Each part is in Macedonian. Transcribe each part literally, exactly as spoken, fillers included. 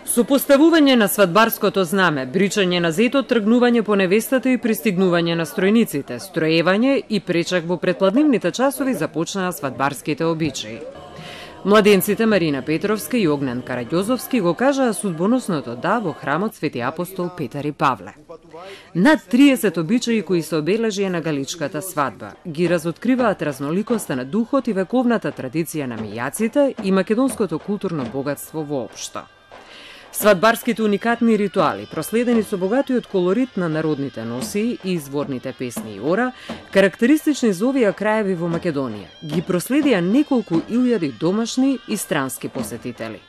Со поставување на свадбарското знаме, бричање на зетот, тргнување по невестата и пристигнување на стројниците, строевање и пречак во предпладнивните часови започнаа свадбарските обичаи. Младенците Марина Петровска и Огнен Караѓозовски го кажаа судбоносното да во храмот Свети апостол Петар и Павле. Над триесет обичаи кои се обележија на галичката свадба ги разоткриваат разноликоста на духот и вековната традиција на мијаците и македонското културно богатство воопшто. Свадбарските уникатни ритуали, проследени со богатиот колорит на народните носии и изворните песни и ора, карактеристични за овие краеви во Македонија, ги проследија неколку илјади домашни и странски посетители.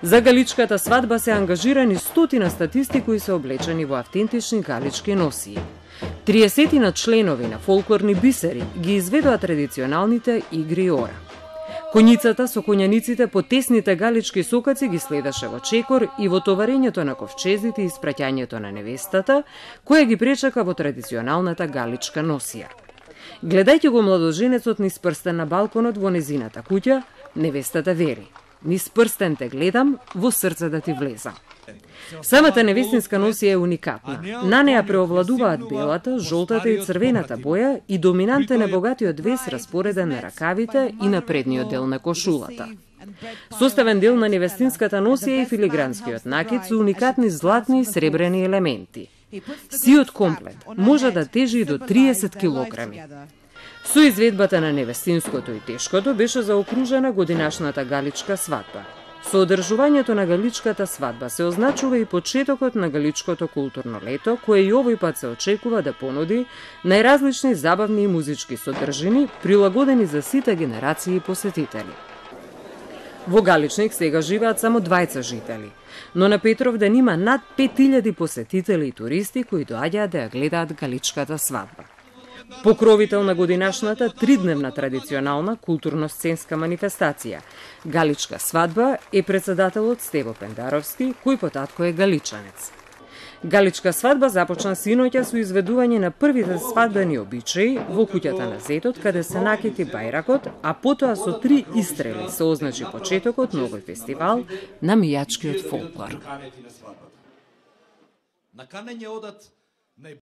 За галичката свадба се ангажирани стотина статисти кои се облечени во автентични галички носии. триесетина членови на фолклорни бисери ги изведоа традиционалните игри и ора. Коњицата со коњаниците по тесните галички сокаци ги следеше во чекор и во товарењето на ковчезите и испраќањето на невестата, која ги пречака во традиционалната галичка носија. Гледајќи го младоженецот низ прстен на балконот во незината куќа, невестата вери: "Низ прстен те гледам, во срце да ти влезам." Самата невестинска носија е уникатна. На неа преовладуваат белата, жолтата и црвената боја и доминантен е богатиот вес распореден на ракавите и на предниот дел на кошулата. Составен дел на невестинската носија е филигранскиот накид со уникатни златни и сребрени елементи. Сиот комплет може да тежи до триесет килограми. Со изведбата на невестинското и тешкото беше заокружена годинашната галичка свадба. Со одржувањето на галичката свадба се означува и почетокот на галичкото културно лето, кое и овој пат се очекува да понуди најразлични забавни и музички содржини, прилагодени за сите генерации посетители. Во Галичник сега живеат само двајца жители, но на Петровден има над пет илјади посетители и туристи кои доаѓаат да ја гледаат галичката свадба. Покровител на годинашната тридневна традиционална културно-сценска манифестација Галичка свадба е председателот Стево Пендаровски, кој потатко е галичанец. Галичка свадба започна синоќа со изведување на првите свадбени обичаи во куќата на зетот, каде се накити бајракот, а потоа со три истрели се означи почетокот на овој фестивал на мијачкиот фолклор. Наканење одат